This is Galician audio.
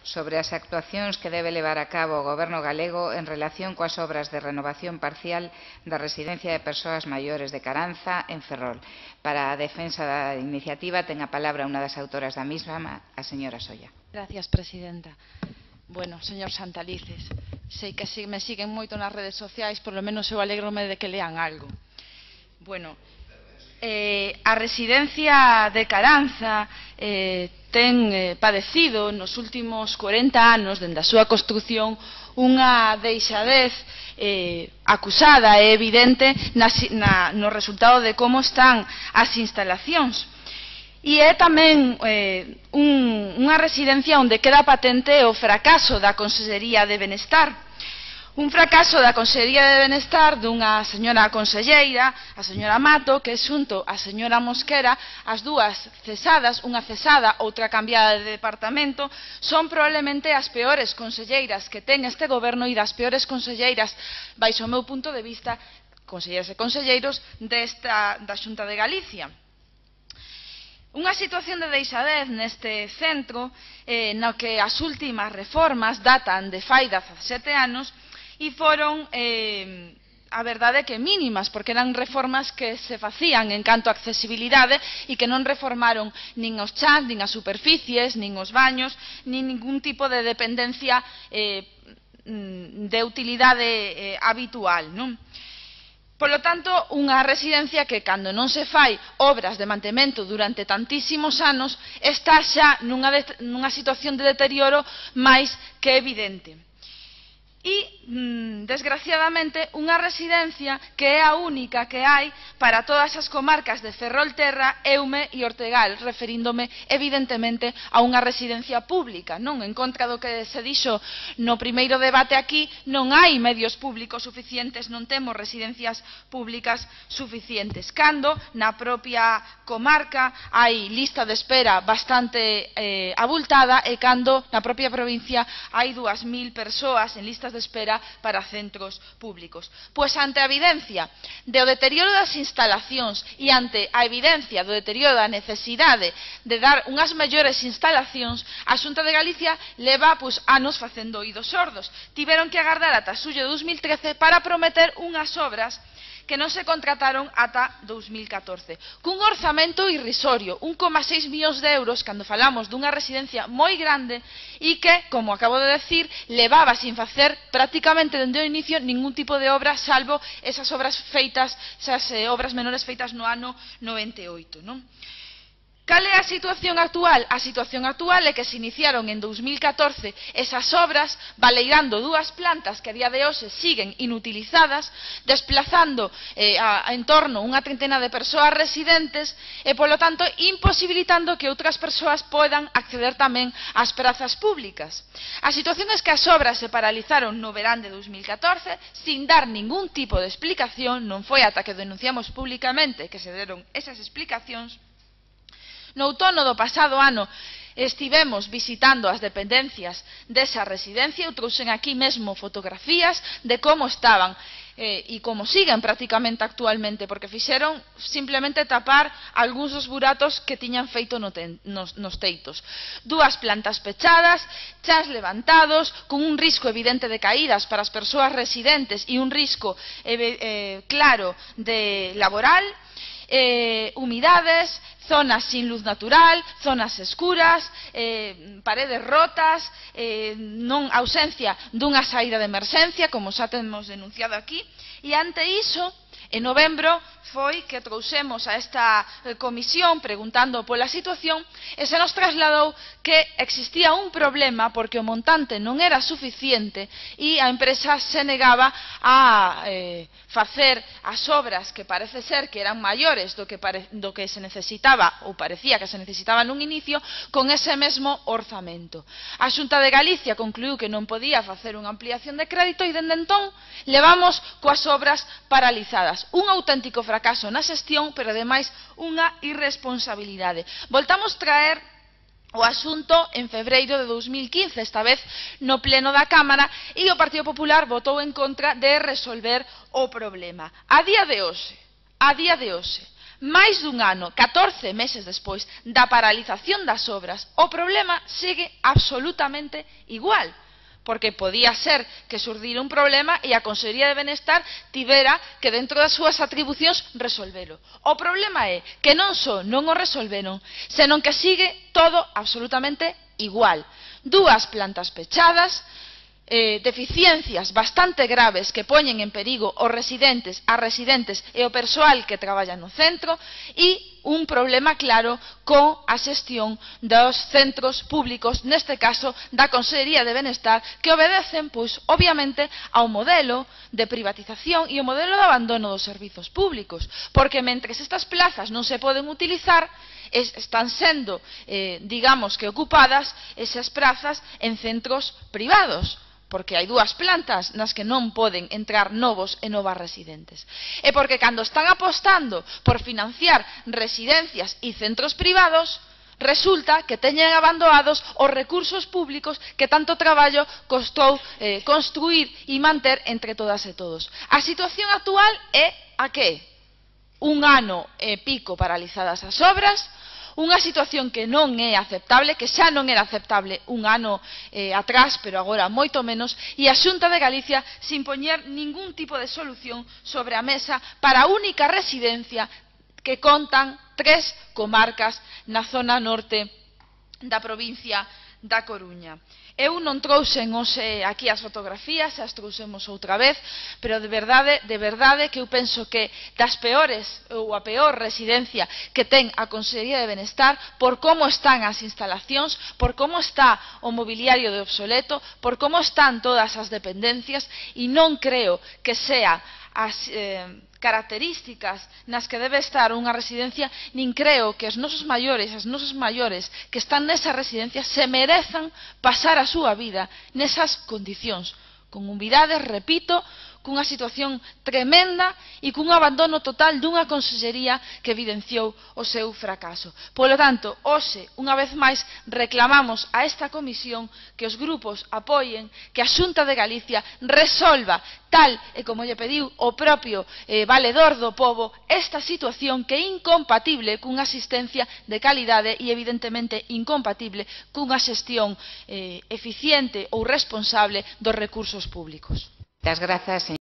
sobre as actuacións que debe levar a cabo o Goberno galego en relación coas obras de renovación parcial da residencia de persoas maiores de Caranza, en Ferrol. Para a defensa da iniciativa ten a palabra unha das autoras da mesma, a señora Solla. Gracias, presidenta. Bueno, señor Santalices, sei que me siguen moito nas redes sociais, por lo menos eu alégrome de que lean algo. Bueno, a residencia de Caranza ten padecido nos últimos 40 anos, dende a súa construción, unha deixadez acusada e evidente no resultado de como están as instalacións. E é tamén unha residencia onde queda patente o fracaso da Consellería de Benestar. Un fracaso da Consellería de Benestar dunha señora conselleira, a señora Mato, que xunto a señora Mosquera, as dúas cesadas, unha cesada, outra cambiada de departamento, son probablemente as peores conselleiras que ten este goberno e das peores conselleiras, baixo o meu punto de vista, conselleiras e conselleiros da Xunta de Galicia. Unha situación de deixadez neste centro no que as últimas reformas datan de fai 17 anos e foron, a verdade, que mínimas, porque eran reformas que se facían en canto a accesibilidade e que non reformaron nin os chans, nin as superficies, nin os baños, nin ningún tipo de dependencia de utilidade habitual, non? Polo tanto, unha residencia que, cando non se fai obras de mantemento durante tantísimos anos, está xa nunha situación de deterioro máis que evidente. E, desgraciadamente, unha residencia que é a única que hai para todas as comarcas de Ferrolterra, Eume e Ortegal, referíndome, evidentemente, a unha residencia pública, non? En contra do que se dixo no primeiro debate aquí, non hai medios públicos suficientes, non temos residencias públicas suficientes. Cando, na propia comarca, hai lista de espera bastante abultada e cando, na propia provincia, hai 2.000 persoas en listas de espera para centros públicos. Pois ante a evidencia do deterioro das instalacións e ante a evidencia do deterioro da necesidade de dar unhas mellores instalacións, a Xunta de Galicia leva anos facendo oídos sordos. Tiveron que agardar ata xullo de 2013 para prometer unhas obras que non se contrataron ata 2014, cun orzamento irrisorio, 1,6 millóns de euros, cando falamos dunha residencia moi grande e que, como acabo de decir, levaba sin facer prácticamente dende o inicio ningún tipo de obra, salvo esas obras feitas, esas obras menores feitas no ano 98, non? Cal é a situación actual? A situación actual é que se iniciaron en 2014 esas obras baleirando 2 plantas que a día de hoxe siguen inutilizadas, desplazando en torno unha trintena de persoas residentes e, polo tanto, imposibilitando que outras persoas podan acceder tamén ás prazas públicas. A situación é que as obras se paralizaron no verán de 2014 sin dar ningún tipo de explicación, non foi ata que denunciamos públicamente que se deron esas explicacións. No outono do pasado ano estivemos visitando as dependencias desa residencia, eu trouxen aquí mesmo fotografías de como estaban e como siguen prácticamente actualmente, porque fixeron simplemente tapar algúns dos buratos que tiñan feito nos teitos. 2 plantas pechadas, chans levantados, con un risco evidente de caídas para as persoas residentes e un risco claro de laboral, humidades, zonas sin luz natural, zonas escuras, paredes rotas, ausencia dunha saída de emerxencia, como xa temos denunciado aquí, e ante iso, en novembro, foi que trouxemos a esta comisión preguntando pola situación e se nos trasladou que existía un problema porque o montante non era suficiente e a empresa se negaba a facer as obras que parece ser que eran maiores do que se necesitaba ou parecía que se necesitaba nun inicio con ese mesmo orzamento. A Xunta de Galicia concluiu que non podía facer unha ampliación de crédito e dende entón levamos coas obras paralizadas. Un auténtico fracaso na xestión, pero ademais unha irresponsabilidade. Voltamos traer o asunto en febreiro de 2015, esta vez no pleno da Cámara, e o Partido Popular votou en contra de resolver o problema. A día de hoxe, máis dun ano, 14 meses despois da paralización das obras, o problema segue absolutamente igual. Porque podía ser que surdira un problema e a Consellería de Benestar tivera que dentro das súas atribucións resolvelo. O problema é que non só non o resolveron, senón que sigue todo absolutamente igual. Dúas plantas pechadas, deficiencias bastante graves que poñen en perigo os residentes, as residentes e o persoal que traballa no centro e un problema claro con a xestión dos centros públicos, neste caso da Consellería de Benestar, que obedecen, pois, obviamente, ao modelo de privatización e ao modelo de abandono dos servizos públicos, porque mentres estas plazas non se poden utilizar, están sendo, digamos que ocupadas esas prazas en centros privados, porque hai dúas plantas nas que non poden entrar novos e novas residentes. E porque cando están apostando por financiar residencias e centros privados, resulta que teñen abandonados os recursos públicos que tanto traballo costou construir e manter entre todas e todos. A situación actual é a que? Un ano e pico paralizadas as obras, unha situación que non é aceptable, que xa non era aceptable un ano atrás, pero agora moito menos, e a Xunta de Galicia sin poñer ningún tipo de solución sobre a mesa para a única residencia que contan 3 comarcas na zona norte da provincia da Coruña. Eu non trouxen hoxe aquí as fotografías, as trouxemos outra vez, pero de verdade que eu penso que das peores ou a peor residencia que ten a Consellería de Benestar, por como están as instalacións, por como está o mobiliario de obsoleto, por como están todas as dependencias, e non creo que sea as características nas que debe estar unha residencia, nin creo que os nosos maiores, as nosas maiores que están nesa residencia se merezan pasar a súa vida nesas condicións, con humildade, repito, cunha situación tremenda e cun abandono total dunha consellería que evidenciou o seu fracaso. Polo tanto, hoxe, unha vez máis, reclamamos a esta comisión que os grupos apoien, que a Xunta de Galicia resolva, tal e como lle pediu o propio valedor do pobo, esta situación que é incompatible cunha asistencia de calidade e evidentemente incompatible cunha xestión eficiente ou responsable dos recursos públicos. Muchas gracias, señor.